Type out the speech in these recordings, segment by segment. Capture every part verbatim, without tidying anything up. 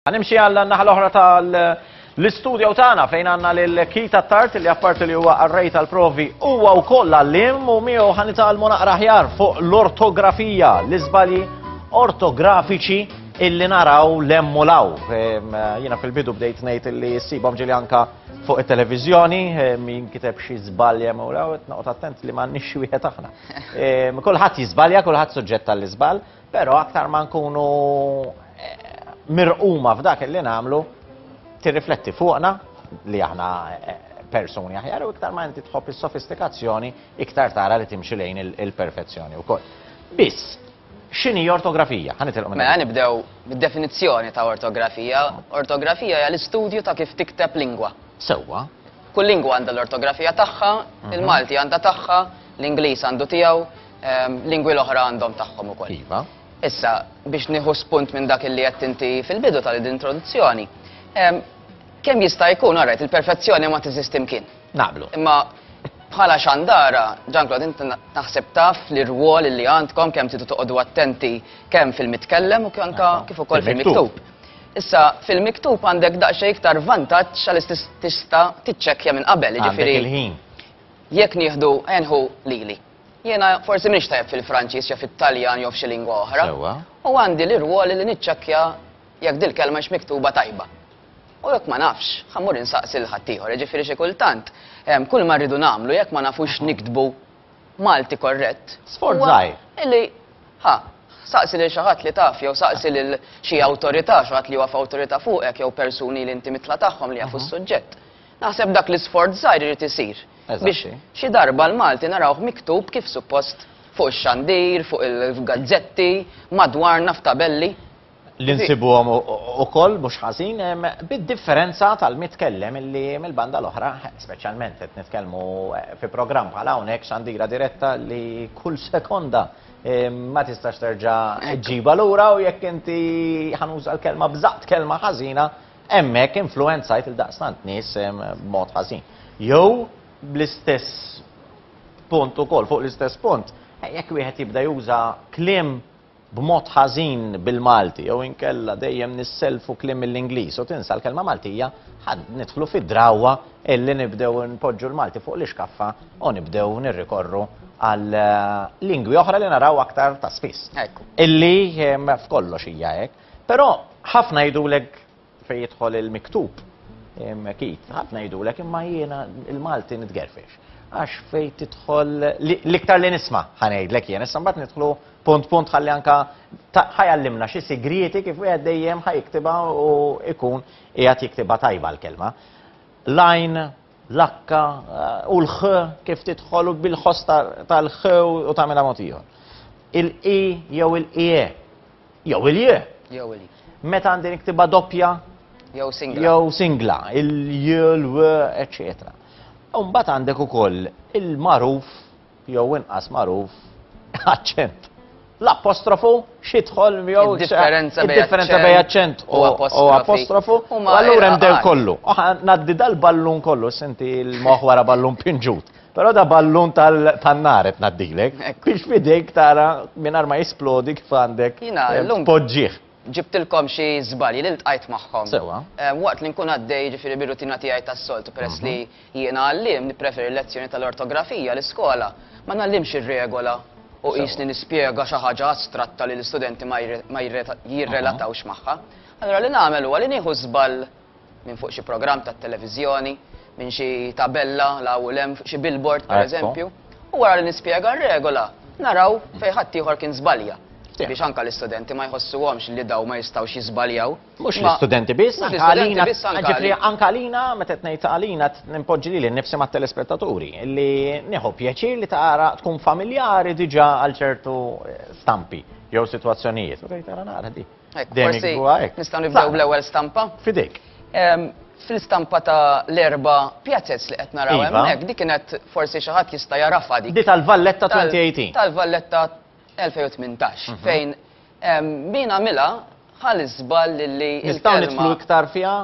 Ħa nimxi għal naħa l-oħra tal-istudio tagħna fejn għandna lil Keith Attard, li apparti li huwa qarrej tal-provi huwa wkoll għalliem, u miegħu ħa nitgħallmu naqra aħjar fuq l-ortografija, l-iżbalji ortografiċi illi naraw 'l hemm u 'l hawn. Jiena fil-bidu bdejt ngħid illi ssibhom ġieli anka fuq it-televiżjoni, min kiteb xi żbalj hemm u 'l hawn, noqgħod attent li m'għandniex xi wieħed aħna. Kulħadd jiżbalja, kulħadd suġġett tal-iżball, però aktar ma nkunu mirquma f'dak li nagħmlu, tirrifletti fuqna li aħna persuni aħjar, u iktar ma inti tħobb is-sofistikazzjoni, iktar tara li timxi lejn il-perfezzjoni wkoll. Biss, x'inhi ortografija? Ħa nitilqu minn Mela nibdew bid-definizzjoni ta' ortografija. Ortografija hija l-istudju ta' kif tikteb lingwa. Sewwa. Kull lingwa għandha l-ortografija tagħha, il-Malti għandha tagħha, l-Ingliż għandu tiegħu, lingwi l-oħra għandhom tagħhom ukoll. Iva. Issa, biex nieħu spunt minn dak li qed inti fil-bidu tal-introduzzjoni, kemm jista' jkun, alright, il-perfezzjoni ma teżisti mkien. Naqblu. Imma bħala xandara, Jean-Claude, inti naħseb taf li rwol li għandkom, kemm tridu toqgħodu attenti kemm fil-mitkellem u anka kif ukoll fil-miktub. Issa, fil-miktub għandek daqsxejn iktar vantaġġ għaliex tista' tiċċekkja minn qabel, jiġifieri. Jekk nieħdu enħu lili. Jiena forsi m'iniex tajjeb fil-Franċiż jew fit-Taljan jew f'xi lingwa oħra. U għandi l-irwol li niċċekkja jekk dil-kelma hix miktuba tajba. U jekk ma nafx, ħa mmur insaqsi lil ħaddieħor, jiġifieri xi kultant kull ma rridu nagħmlu jekk ma nafux niktbu Malti korrett. Sforz żgħir. Illi ħa, saqsi lil xi ħadd li taf jew saqsi lil xi awtorità, xi ħadd li huwa f'awtorità fuqek jew persuni li inti mitla tagħhom li jafu s-suġġett. Naħseb dak l-isforz żgħir irid isir biex xi darba l-Malti narawh miktub kif suppost fuq ix-xandir, fuq il-gazzetti, madwarna f'tabelli. Li nsibuhom ukoll mhux ħażin, bid-differenza tal-mitkellem illi mill-banda l-oħra, speċjalment qed nitkellmu fi programm bħal hawnhekk, xandira diretta, li kull sekonda ma tistax terġa' ġiba lura, u jekk inti, ħa nuża l-kelma, bżaqt kelma ħażina, hemmhekk influenzajt lil daqstant nies b'mod ħażin. Jew bl-istess punt ukoll, fuq l-istess punt, jekk wieħed jibda juża kliem b'mod ħażin bil-Malti jew inkella dejjem nisselfu kliem mill-Ingliż u tinsa l-kelma Maltija, ħa nidħlu fid-drawwa illi nibdew npoġġu l-Malti fuq l-iskaffa u nibdew nirrikorru għal lingwi oħra li naraw aktar ta' spiss. Illi f'kollox hija hekk. Però ħafna jgħidulek fejn jidħol il-miktub, Keith, ħafna jgħidulek imma jiena il-Malti nitgerfex. Għax fejn tidħol l-iktar li nisma', ħa ngħidlek jien, issa mbagħad nidħlu punt punt ħalli anka ħa jgħallimna xi sigrieti kif wieħed dejjem ħa jiktibha u ikun qiegħed jiktibha tajba l-kelma. L-għajn, l-akka u l-ħ, kif tidħol u bil-ħoss tal-ħ u tagħmilha mod ieħor. Il-i jew il-ie jew il-j. Jew il Meta għandi niktibha doppja jew singla. Jew singla, il-j, l-w, eċetera. U mbagħad għandek ukoll il-magħruf jew inqas magħruf aċċent. L-apostrofu x'idħol jew Id-differenza bejn id-differenza bejn aċċent u apostrofu. U allura hemm del kollu. U ngħaddi dal-ballun kollu, senti l-moħħ wara ballun pinġut. Però da ballun tan-nar qed ngħaddilek biex f'idejk tara mingħajr ma jisplodi kif għandek poġġih. Ġibtilkom xi żbalji li ltqajt magħhom. Sewwa. Waqt li nkun għaddej, ġifieri, bir-rutina tiegħi tas-soltu, peress li jiena għalliem nippreferi lezzjoni tal-ortografija l-iskola. Ma ngħallimx ir-regola u qisni nispjega xi ħaġa astratta li l-istudenti ma jirrelatawx magħha. Allura li nagħmel huwa li nieħu żball minn fuq xi programm tat-televiżjoni, minn xi tabella 'l hawn u 'l hemm, xi billboard pereżempju, u wara li nispjega r-regola, naraw fejn ħadd ieħor kien żbalja. Biex anka l-istudenti ma jħossuhomx li daw ma jistgħux jiżbaljaw. Mhux l-istudenti biss, anka għalina, ġifieri anka għalina, meta qed ngħid għalina nimpoġġi lili nnifsi mat-telespettaturi li nieħu pjaċir li tara tkun familjari diġà għal ċertu stampi jew sitwazzjonijiet. U tgħid, "Ara nara di." Forsi nistgħu nibdew bl-ewwel stampa. F'idejk. Fil-stampa ta' l-erba' pjazez li qed naraw hemmhekk, dik kienet forsi xi ħadd jista' jarafha dik. Di tal-Valletta elfejn u tmintax. Tal-Valletta elfejn u tmintax, fejn min għamilha ħa l-iżball li Nistgħu nidħlu iktar fiha,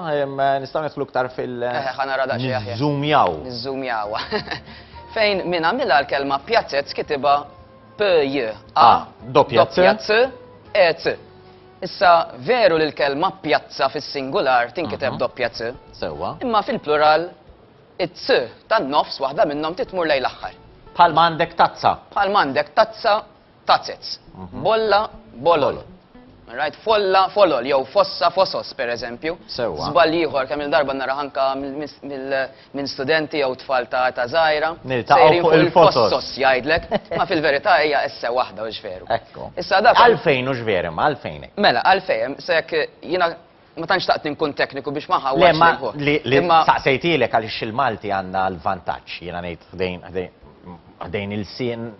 nistgħu nidħlu iktar fil- Ħa nara daqsxejn aħjar. Niżżumjaw. Niżżumjaw. Fejn min għamilha l-kelma pjazez kitibha P J A doppja C E C. Issa veru li l-kelma pjazza fis-singular tinkiteb doppja C, Sewwa. imma fil-plural it-C tan-nofs waħda minnhom titmur lejn l-aħħar. Bħalma għandek tazza. Bħal m'għandek tazza, tazez. Bolla, bolol. Right, folla, folol, jew fossa, fosos, per eżempju. Sewwa. Żball ieħor kemm il-darba nara anka minn studenti jew tfal ta' ta' żgħira. Niltaqgħu Sejrin fuq il-fosos. Il-fossos jgħidlek, ma fil-verità hija esse waħda u veru. Ekku. Issa dak Għalfejn u x'veru, ma għalfejn. Mela, għalfejn, se jekk jiena ma tantx taqt nkun tekniku biex ma Le, ħawwax ma lil-ħuħ. li, li Imma saqsejtilek għaliex il-Malti għandna l-vantaġġ, jiena ngħid ħdejn ħdejn ħdejn il-sien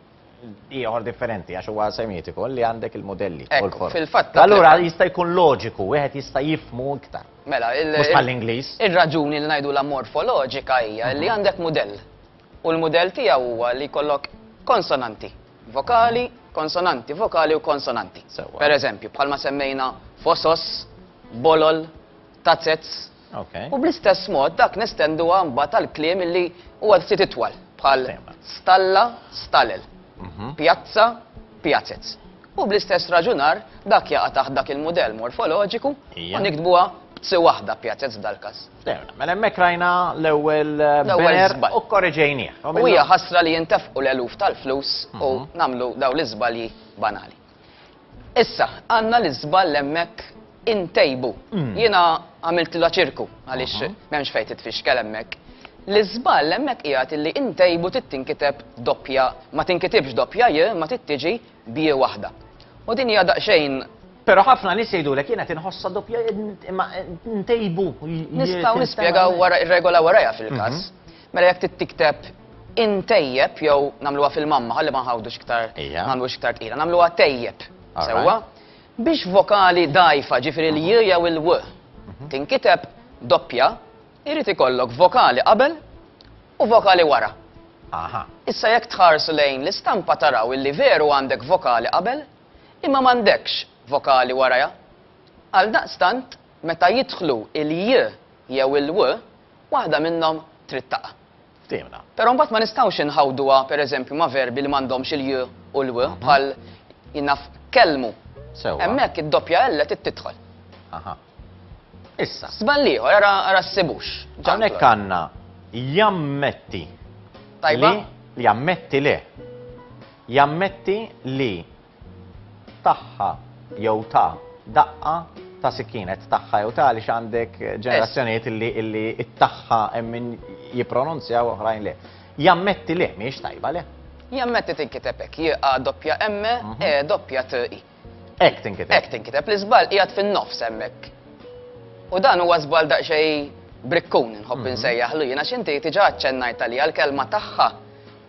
ieħor differenti għax huwa semitiku li għandek il-modelli. u Ekku, l-forom. fil-fatt Allura jista' jkun loġiku, wieħed jista' jifmu iktar. Mela, il- Mhux bħall-Ingliż. Ir-raġuni li ngħidu la morfoloġika hija li għandek mudell. U l-mudell tiegħu huwa li jkollok konsonanti, vokali, konsonanti, vokali u konsonanti. Sewwa. Per eżempju, bħalma semmejna fosos, bolol, tazez. Ok. U bl-istess mod dak nestenduha mbagħad tal-kliem illi huwa ftit itwal bħal Sema. stalla, stalel, Mhm. pjazza, pjazez. U bl-istess raġunar dak jaqa' taħt dak il-mudell morfoloġiku Ija. u nikdbuha b'tsi waħda pjazez f'dal-każ. Ftehmna. Mela hemmhekk rajna l-ewwel eh, L-ewwel banner żball. u korreġejnieh. U hija ħasra li jintefqu l-eluf tal-flus u nagħmlu daw l-iżbalji banali. Issa, għandna l-iżball hemmhekk intejbu. Jiena għamilt la ċirku għaliex m'hemmx fejn titfixkel hemmhekk. L-iżball hemmhekk qiegħed illi intejbu tittinkiteb doppja, ma tinkitibx doppja j, ma tittiġi bi waħda. U din hija daqsxejn Però ħafna nies jgħidulek jiena tinħossa doppja imma ntejbu. Nistgħu nispjegaw wara ir-regola warajha fil-każ. Mela jekk tittikteb intejjeb jew nagħmluha fil-mamma ħalli ma nħawdux iktar Ija. nagħmlux iktar tqila, nagħmluha tejjeb. All Sewwa? Biex vokali dajfa ġifieri l-j jew il-w tinkiteb doppja, irid ikollok vokali qabel u vokali wara. Aha. Issa jekk tħarsu lejn l-istampa taraw illi veru għandek vokali qabel, imma m'għandekx vokali waraja. Għal daqstant, meta jidħlu il-j jew il-w, waħda minnhom trid taqa'. Ftehmna. Però mbagħad ma nistgħux inħawduha pereżempju ma' verbi li m'għandhomx il-j u l-w bħal jinnaf kelmu. Sewwa. Hemmhekk id-doppja L trid tidħol. Aha. Issa. Żball ieħor, ara ara ssibux. Hawnhekk għandna jammetti. Tajba? Li jammetti le. Jammetti li taħħa jew ta' daqqa ta' sikkinet taħħa jew ta' għaliex għandek ġenerazzjonijiet illi illi it-taħħa hemm min jippronunzja u oħrajn le. Jammetti le, mhijiex tajba le. Jammetti tinkiteb hekk, J A doppja M E doppja T I. Hekk tinkiteb. Hekk tinkiteb, l-iżball qiegħed fin-nofs hemmhekk. U dan huwa żball daqsxejn brikkun nħobb insejjaħlu jiena x'inti diġà aċċennajt għalija l-kelma tagħha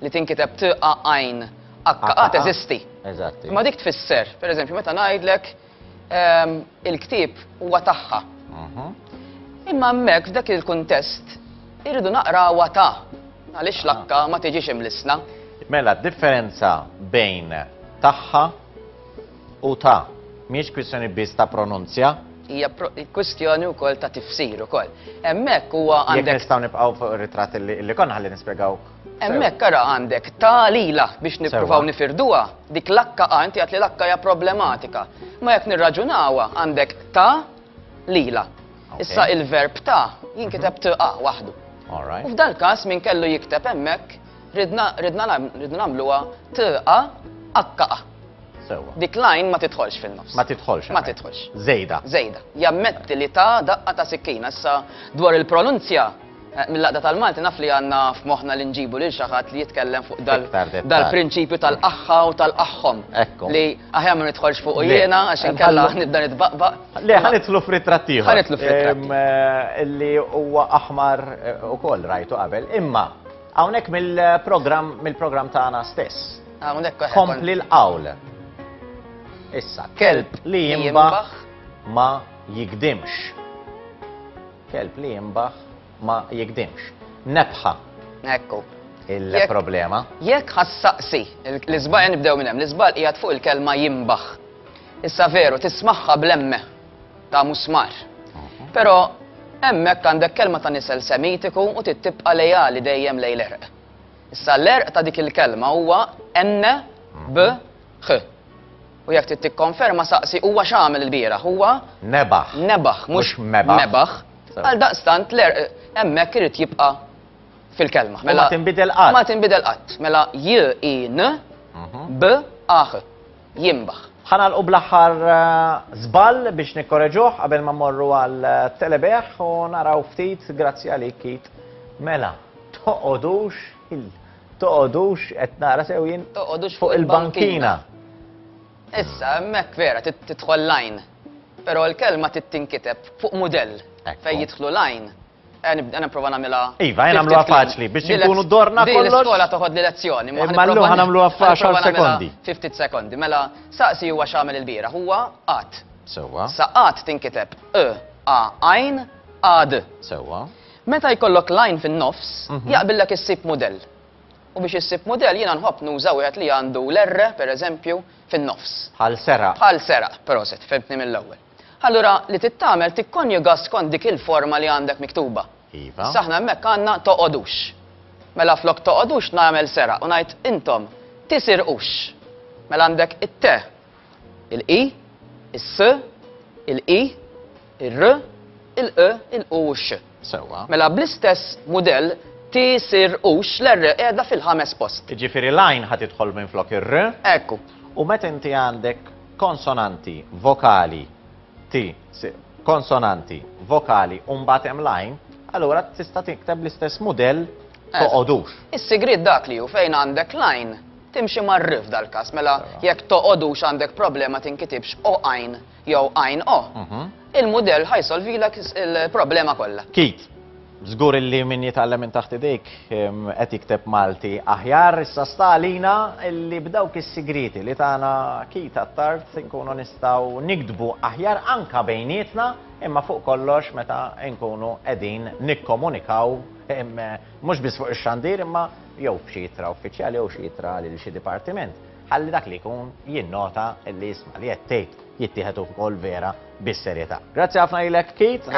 li tinkiteb T A għajn H A teżisti. Eżatti. Imma dik tfisser, pereżempju, meta ngħidlek ehm, il-ktieb huwa tagħha. Mhm. Imma hemmhekk f'dak il-kuntest irridu naqrawha ta' għaliex l-akka ma tiġix imlisna. Mela, differenza bejn tagħha u ta' mhijiex kwistjoni biss ta' pronunzja. Hija pro- kwistjoni wkoll ta' tifsir ukoll. Hemmhekk huwa Jekk għandek nistgħu nibqgħu fuq ir-ritratt li li konna ħalli nispjegaw. Hemmhekk ara għandek ta' lila biex nippruvaw Sewwa. nifirduha, dik l-akka inti għat li l-akka hija problematika. Ma jekk nirraġunawha għandek ta' lila. Ok. Issa il-verb ta' jinkiteb t a waħdu. All right. U f'dal każ min kellu jikteb hemmhekk ridna ridna nam- ridna nagħmluha t a h a. Sewwa. Dik line ma tidħolx fin-nofs. Ma tidħolx. Ma hemmhekk. tidħolx. Żejda. Żejda. Jammetti li ta' daqqa ta' sikkina. Issa dwar il-pronunzja, eh, mill-laqda tal-Malti naf li għandna f'moħħna li nġibu lil xi ħadd li jitkellem fuq dal- Iktar dettal. dal-prinċipju tal-aħħa u tal-aħħom. Ekku. Li aħjar ma nidħolx fuq Le. jiena għax inkella nibda nitbaqbaq. Le, ħa nidħlu f'ritratt ieħor. Ħa nidħlu f'ritratt Em, eh, Li huwa aħmar eh, ukoll rajtu qabel. Imma hawnhekk mill-programm mill-programm tagħna stess. Hawnhekk eħe, Kompli l-qawl. Issa, kelb li jimbaħ ma jigdimx. Kelb li jimbaħ ma jigdimx. Nebħa Ekku. il-problema. Jekk ħassaqsi, l-iżbal nibdew minn hemm, l-iżbal qiegħed fuq il-kelma jimbaħ. Issa veru, tismaħħa blemme ta' musmar. Però hemmhekk għandek kelma ta' nisel semitiku u tibqa' lejali dejjem lejn l-erq. Issa l-erq ta' dik il-kelma huwa N B H. U jekk trid tikkonferma saqsi huwa x'għamel il-bieraħ, huwa Nebaħ. Nebaħ, mhux mebaħ. Għal daqstant hemmhekk irid jibqa' fil-kelma. Mela ma tinbidel qatt. Ma tinbidel qatt. Mela J I N B A H. Jimbaħ. Ħa nagħlqu bl-aħħar żball biex nikkoreġuh qabel ma mmorru għal telebeħ u naraw ftit, grazzi għalik Keith. Mela, toqgħodux il toqgħodux qed nara sew jien toqgħodux fuq il-bankina. Issa hemmhekk vera tidħol line. Però l-kelma tittinkiteb fuq mudell fejn jidħlu line. Nibda nipprova nagħmilha. Iva, jien nagħmluha faċli biex inkunu dorna kollox. L-iskola toħod li lezzjoni. Imma llum ħa nagħmluha f'għaxar sekondi. Fifty sekondi. Mela saqsi huwa x'għamel il-bieraħ, huwa qatt. Sewwa. Sa qatt tinkiteb e a għajn a d. Sewwa. Meta jkollok line fin-nofs, jaqbillek issib mudell. U biex issib mudell jiena nħobb nuża wieħed li għandu l-R, pereżempju, fin-nofs. Bħal seraq. Bħal seraq, proset, fhimtni mill-ewwel. Allura li tittamel tikkonjuga skont dik il-forma li għandek miktuba. Iva. Saħna hemmhekk għandna toqgħodux. Mela flok toqgħodux nagħmel seraq u ngħid intom tisirqux. Mela għandek it-T, il-I, is-S, il-I, ir-R, il-E, il-U u x. Sewwa. Mela bl-istess mudell tisirqux l-R qiegħda fil-ħames post. Jiġifieri l-għajn ħa tidħol minn flok ir-R. Ekku. U meta inti għandek konsonanti, vokali, T, konsonanti, vokali, u mbagħad hemm l-għajn, allura tista' tikteb l-istess mudell toqgħodux. Is-sigriet dak li hu fejn għandek l-għajn timxi mar-R f'dal-każ, mela jekk toqgħodux għandek problema tinkitibx o għajn jew għajn o. Il-mudell ħajsolvilek il-problema kollha. Keith, żgur illi min jitgħallem minn taħt idejk qed jikteb Malti aħjar, issa sta għalina illi b'dawk is-sigriti li tagħna Keith Attard inkunu nistgħu niktbu aħjar anka bejnietna, imma fuq kollox meta nkunu qegħdin nikkomunikaw mhux biss fuq ix-xandir imma jew f'xi ittra uffiċjali jew xi ittra lil xi dipartiment. Ħalli dak li jkun jinnota illi jisma' li qed tgħid jittieħed ukoll vera bis-serjetà. Grazzi ħafna lilek Keith.